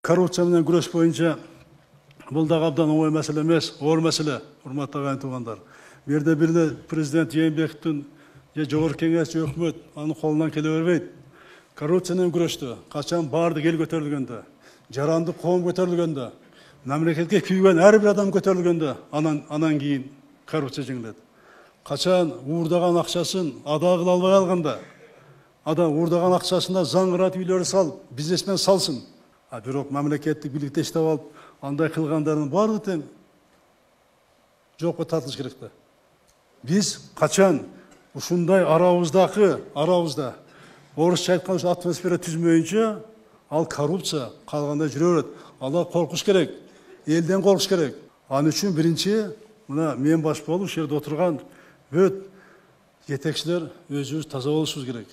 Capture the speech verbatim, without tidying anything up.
коррупция менен күрөш боюнча бул дагы абдан оңой маселе эмес, оор маселе, урматтуу агайын туугандар. Бу жерде бир эле президент Жээнбековдун же жогорку кеңеш же өкмөт анын колунан келе бербейт. Коррупция менен күрөштө качан баардык эл көтөрүлгөндө, жарандык коом көтөрүлгөндө, мамлекетке күйгөн ар бир адам көтөрүлгөндө, анан анан кийин коррупция жеңилет. Качан уурдаган акчасын ада кыла албай калганда, адам уурдаган акчасына заңыратып үйлөрү салып, бизнесмен салсын. А бирок мамлекеттик бийликти иштеп алып, андай кылгандардын баардыгы тең жоопко тартылыш керек да. Биз качан ушундай арабыздагы, арабызда орусча айтканда атмосфера түзмөйүнчө, ал коррупция калгандай жүрө берет. Ала коркуш керек, элден коркуш керек. Анын үчүн биринчи мына мен баш болуп ушул жерде отурган бүт жетекчилер өзүбүз таза болушубуз керек.